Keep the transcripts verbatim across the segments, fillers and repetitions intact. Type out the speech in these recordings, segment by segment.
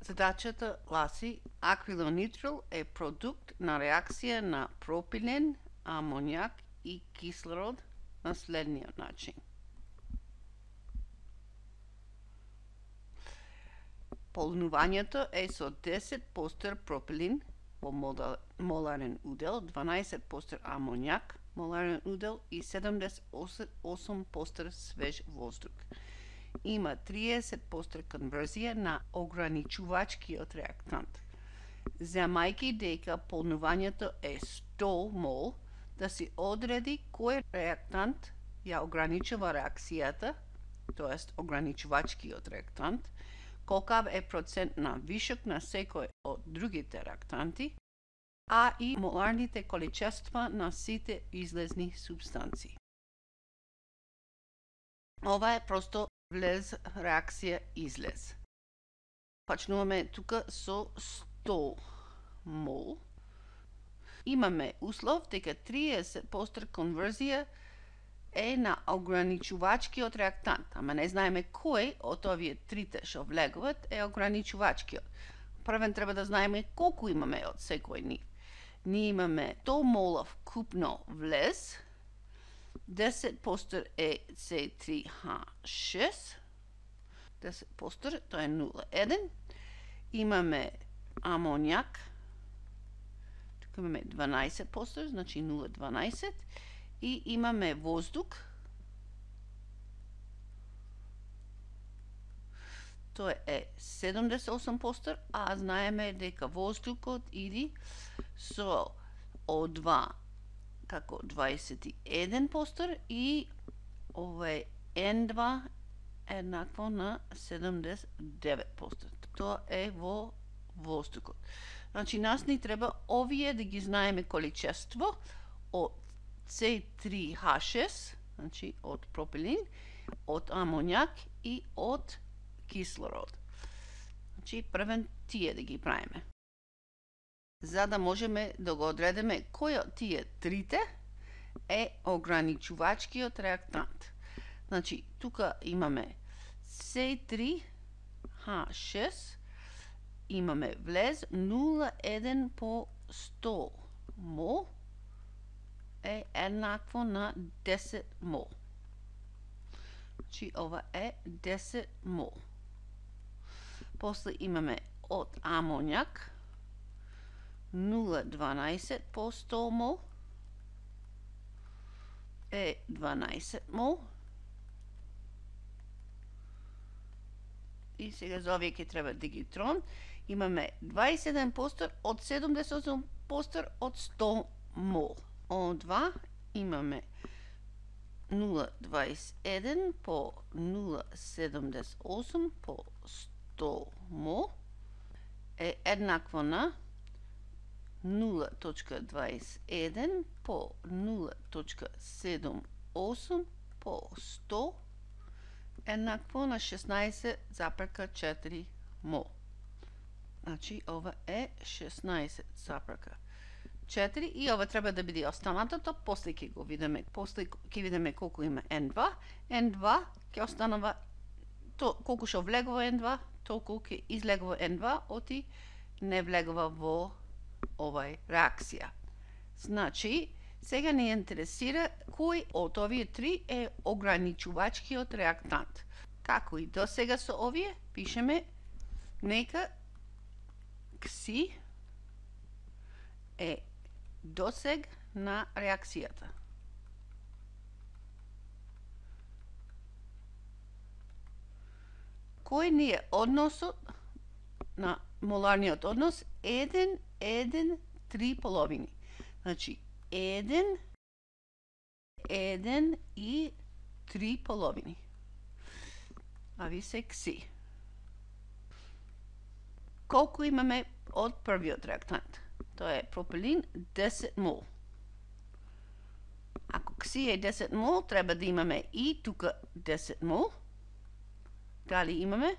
Задачата гласи: акрилонитрил е продукт на реакција на пропилен, амоњак и кислород на следниот начин. Полнувањето е со десет постер пропилин во моларен удел, дванаесет постер амоњак, моларен удел и седумдесет и осум постер свеж воздух. Има триесет постер конверзија на ограничувачкиот реактант. Земајќи дека полнувањето е сто мол, да се одреди кој реактант ја ограничува реакцијата, тоест ограничувачкиот реактант, колкав е процент на вишок на секој од другите реактанти, а и моларните количества на сите излезни субстанции. Ова е просто влез, реакција, излез. Почнуваме тука со сто мол. Имаме услов дека триесет постер конверзија е на ограничувачкиот реактант, ама не знаеме кој од овие трите што влегуваат е ограничувачкиот. Првен треба да знаеме колку имаме од секој нив. Ние имаме сто молов купно влез, десет постер е С три Х шест, десет постер, тоа е нула еден. Имаме амоњак, тука имаме дванаесет постер, значи нула дванаесет. И имаме воздух, тоа е седумдесет и осум постер, а знаеме дека воздухот иди со О два како дваесет и еден постер и ова е Н два еднакво на седумдесет и девет постер. Тоа е во воздухот. Значи, нас ни треба овие да ги знаеме количество од С три Х шест, значи од пропилин, од амоњак и од кислород. Значи, првен тие да ги правиме. За да можеме да го одредиме кој од тие трите е ограничувачкиот реактант. Значи, тука имаме С три Х шест, имаме влез нула еден по сто мол, е еднакво на десет мол. Значи, ова е десет мол. После имаме од амоњак нула дванаесет по сто мол, е дванаесет мол. И сега за овие ќе треба дигитрон. Имаме дваесет и еден постер од седумдесет и осум постер од сто мол. О два имаме нула дваесет и еден по нула седумдесет и осум по сто мол е еднакво на нула точка дваесет и еден по нула точка седумдесет и осум по сто еднакво на шеснаесет запрка четири мол. Значи, ова е шеснаесет запрка четири и ова треба да биде останатото, после ќе го видиме, после ќе видиме колку има Н два. Н два ќе останува то колку што влегува Н два, толку ќе излегува Н два, оти не влегува во овај реакција. Значи, сега не интересира кој од овие три е ограничувачкиот реактант. Како и до сега со овие, пишеме нека Кси е досег на реакцијата. Кој ни е односот на моларниот однос? еден, еден, три половини. Значи, еден, еден и три половини. А ви се Кси. Колку имаме од првиот реактант? Тоа е пропилин десет мол. Ако Кси е десет мол, треба да имаме и тука десет мол. Дали имаме?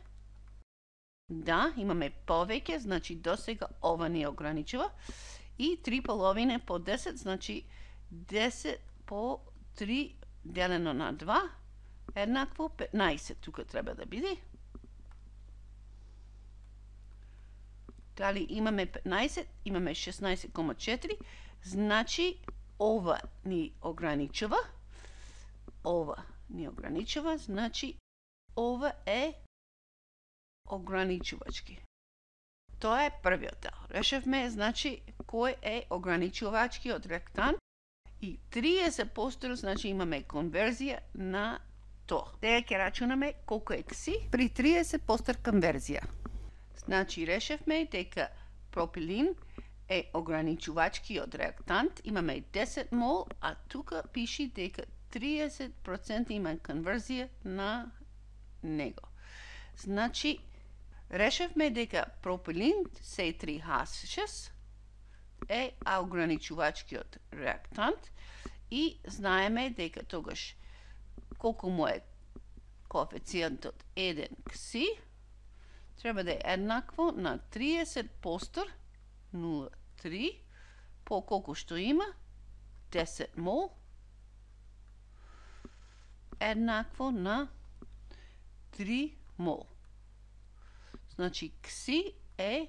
Да, имаме повеќе, значи досега ова ни ограничува. И три половина по десет, значи десет по три делено на два, еднакво петнаесет тука треба да биде. Дали имаме петнаесет, имаме шеснаесет кома четири, значи ова ни ограничува, ова ни ограничува, значи ова е ограничувачки. Тоа е првиот дел. Решевме, значи, кој е ограничувачкиот реактант и триесет проценти, значи имаме конверзија на тоа. Сега ќе рачунаме колку е кси при триесет проценти конверзија. Значи, решевме дека пропилин е ограничувачкиот реактант, имаме десет мол, а тука пиши дека триесет проценти има конверзија на него. Значи, решевме дека пропилин С три Х шест е ограничувачкиот реактант и знаеме дека тогаш колку му е коефициентот еден кси, треба да е еднакво на триесет проценти нула целу три по колку што има десет мол еднакво на три мол. Значи кси е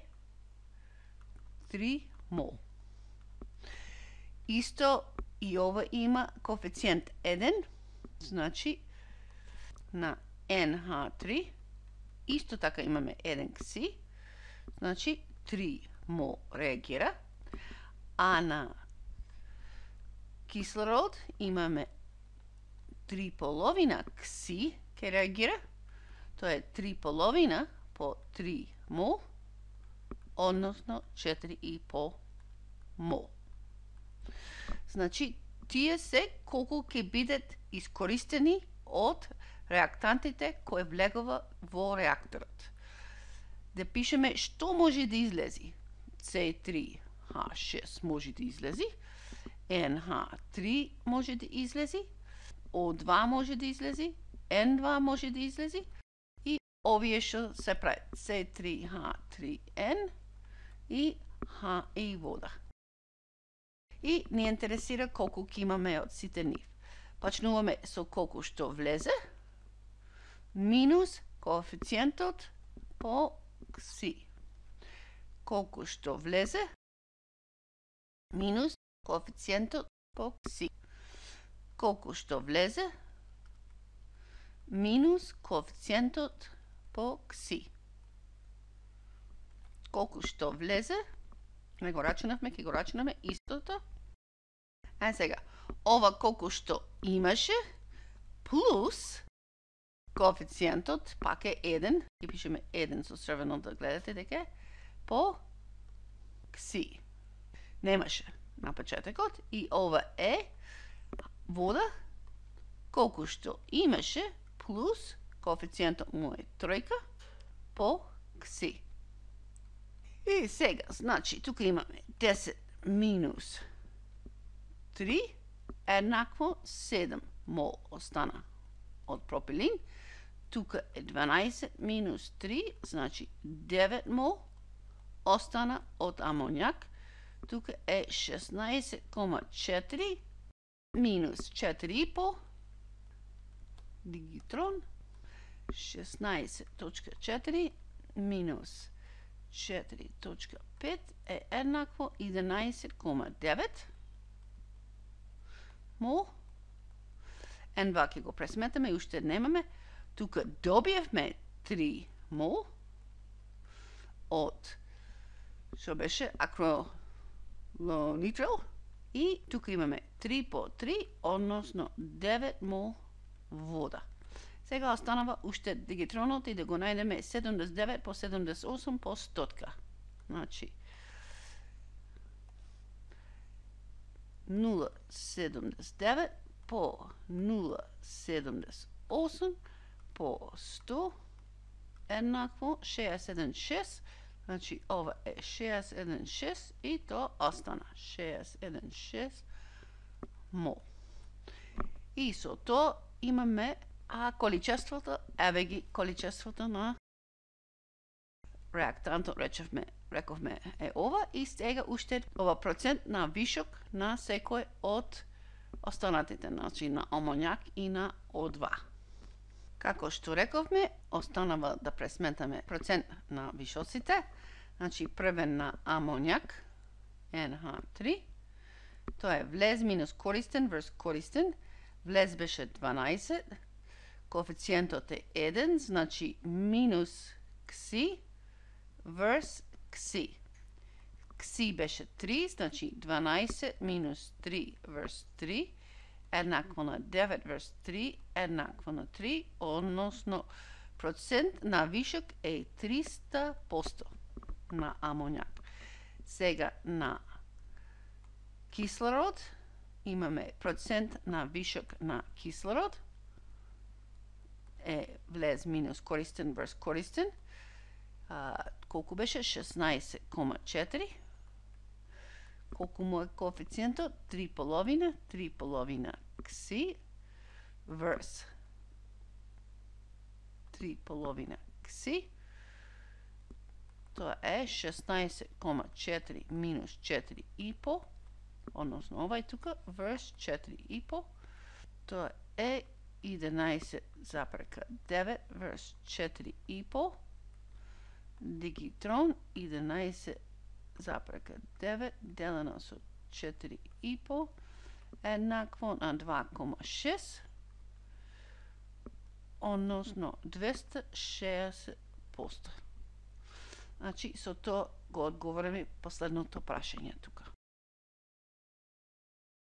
три мол. Исто и ова има коефициент еден, значи на Н Х три исто така имаме еден кси, значи три мол реагира, а на кислород имаме три половина кси ке реагира, тоа е три половина по три мол, односно четири и пол мол. Значи, тие се колку ќе бидат искористени од реактантите кои влегува во реакторот. Да пишеме што може да излези. С три Х шест може да излези, Н Х три може да излези, О два може да излези, Н два може да излези и овие што се прават С три Х три Н и Х и вода. И ни интересира колку ќе имаме од сите нив. Почнуваме со колку што влезе, минус коефициентот по кси. Колку што влезе, минус коефициентот по кси. Колку што влезе, минус коефициентот по кси. Колку што влезе, не го рачунавме, ќе го рачунаме истото. А сега, ова колку што имаше, плюс коефициентот, пак е еден, ќе пишеме еден со црвено да гледате дека е, по кси. Немаше на почетокот и ова е вода, колку што имаше, плюс коефициентот му е тројка, по кси. И сега, значи, тука имаме десет минус три, еднакво седум мол остана од пропилин. Тука е дванаесет минус три, значи девет мол остана од амоњак. Тука е шеснаесет кома четири минус четири и пол дигитрон, шеснаесет точка четири минус четири точка пет е еднакво единаесет кома девет мол. Н два ќе го пресметаме и уште немаме. Тука добиевме три мол од што беше акрилонитрил и тука имаме три по три, односно девет мол вода. Сега останава уште дигитронот и да го најдеме седумдесет и девет по седумдесет и осум по стотка. Значи, нула целу седумдесет и девет по нула целу седумдесет и осум по сто еднакво шеесет еден шест. Значи, ова е шеесет еден шест и тоа остана шеесет еден шест мол. И со тоа имаме а количеството, еве ги количеството на реактантот, речевме, рековме е ова и сега уште ова процент на вишок на секој од останатите, значи на амоњак и на О два. Како што рековме, останава да пресметаме процент на вишоците, Значи, првен на амонјак, Ен Ха три. Тоа е влез минус користен врз користен. Влез беше дванаесет. Коефициентот е еден, значи минус кси врз кси. Кси беше три, значи дванаесет минус три врз три еднакво на девет врз три еднакво на три, односно процент на вишок е триста проценти на амонјак. Сега на кислород имаме процент на вишок на кислород е влез минус користен врз користен. А, колку беше? шеснаесет кома четири. Колку му е коефициентот? три половина, три половина кси врз три половина кси. Тоа е шеснаесет кома четири минус четири и пол, односно овај тука, врз четири и пол. Тоа е единаесет запрека девет врз четири и пол. Дигитрон единаесет запрека девет делено со четири и пол еднакво на два кома шест, односно двеста шеесет проценти. Значи, со тоа го одговориме последното прашање тука.